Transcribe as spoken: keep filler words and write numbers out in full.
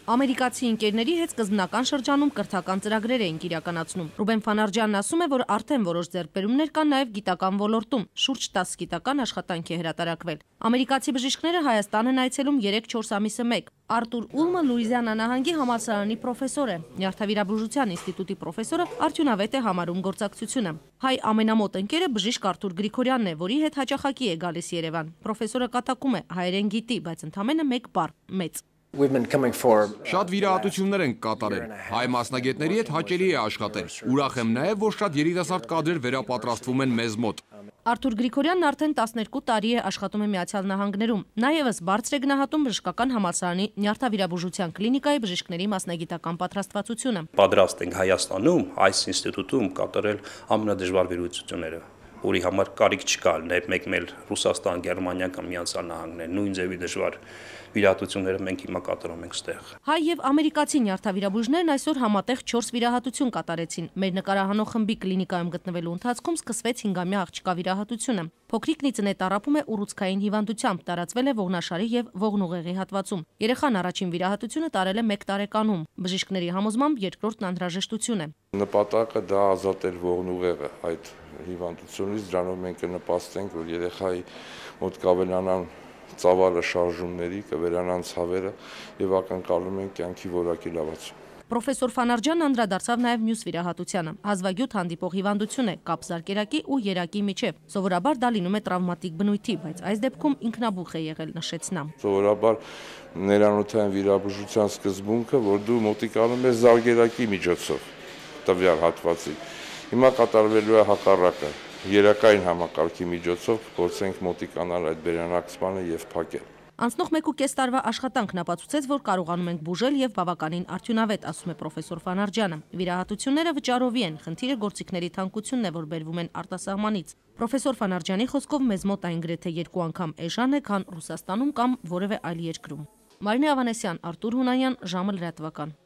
Ամերիկացի ընկերների հետ սկզբնական շրջանում կրթական ծրագրեր էին իրականացնում։ Ռուբեն Ֆանարջյանն ասում է, որ արդեն որոշ ձեռքբերումներ կան նաև գիտական ոլորտում, շուրջ տասը գիտական աշխատանք է հրատարակվել։ Ամերիկացի բժիշկները Հայաստան են այցելում երեք-չորս ամիսը մեկ։ Արտուր Ուլմը Լուիզիանա նահանգի համալսարանի պրոֆեսոր է։ Նյարդավիրաբուժության ինստիտուտի պրոֆեսորը արդյունավետ է համարում գործակցությունը։ Հայ ամենամոտ ընկերը բժիշկ Արտուր Գրիգորյանն է, որի հետ հաճախակի է գալիս Երևան։ Պրոֆեսորը կատակում է, հայերեն գիտի, բայց ընդամենը մեկ բառ՝ մեծ։ Շատ վիրահատություններ են կատարել։ Հայ մասնագետների հետ հաճելի է աշխատել։ Ուրախ եմ նաև, որ շատ երիտասարդ կադրեր վերապատրաստվում են մեզ մոտ։ Արտուր Գրիգորյանն արդեն տասներկու տարի է աշխատում է Միացյալ Նահանգներում։ Նա ևս բարձր է գնահատում բժշկական համալսարանի նյարդավիրաբուժության կլինիկայի բժիշկների մասնագիտական պատրաստվածությունը։ Պատրաստ ենք Հայաստանում այս ինստիտուտում կատարել ամենադժվար վիրահատությունները, որի համար կարիք չկա մեկ-մեկ Ռուսաստան, Գերմանիա կամ Միացյալ Նահանգներ, նույն ձևի դժվար վիրահատությունները մենք հիմա կատարում ենք ստեղ։ Հայ եւ ամերիկացի նյարդավիրաբույժներն այսօր համատեղ չորս վիրահատություն կատարեցին։ Մեր նկարահանող խմբի կլինիկայում գտնվելու ընթացքում սկսվեց հինգամյա աղջկա վիրահատությունը։ Փոքրիկ Նիծնե տառապում է ուռուցքային հիվանդությամբ, տարածվել է ողնաշարի եւ ողնուղեղի հատվածում։ Երեխան առաջին վիրահատությունը տարել է մեկ տարեկանում։ Բժիշկների համոզմամբ երկրորդն անհրաժեշտություն է։ Նպատակը դա ազատել ողնուղեղը այդ հիվանդությունից, դրանով մենք կնպաստենք, որ երեխայի մոտ կավելանան ծավալը շարժումների, կվերանան ցավերը եւ ակնկալում են կյանքի որակի լավացում։ Պրոֆեսոր Ֆանարջյանն անդրադարձավ նաև մյուս վիրահատությանը։ Հազվագյուտ հանդիպող հիվանդություն է կապզարկերակի ու երակի միջև։ Սովորաբար դա լինում է տրավմատիկ բնույթի, բայց այս դեպքում ինքնաբուխ է եղել, նշեց նա։ Սովորաբար ներանոթային վիրաբուժության սկզբունքը, որ դու մոտիկանում ես զարգերակի միջոցով տվյալ հատվածի։ Հիմա կատարվելու է հակառակը։ Երակային համակարգի միջոցով փորձենք մոտիկանալ այդ բերանակցմանը եւ փակել։ Անցնող մեկ ու կես տարվա աշխատանքն ապացուցեց, որ կարողանում ենք բուժել եւ բավականին արդյունավետ, ասում է պրոֆեսոր Ֆանարջյանը։ Վիրահատությունները վճարովի են, խնդիրը գործիքների թանկությունն է, որ բերվում են արտասահմանից։ Պրոֆեսոր Ֆանարջյանի խոսքով մեզ մոտ այն գրեթե երկու անգամ էժան է, քան Ռուսաստանում կամ որևէ այլ երկրում։ Մարինե Ավանեսյան, Արտուր Հունանյան, ժամը լրատվական։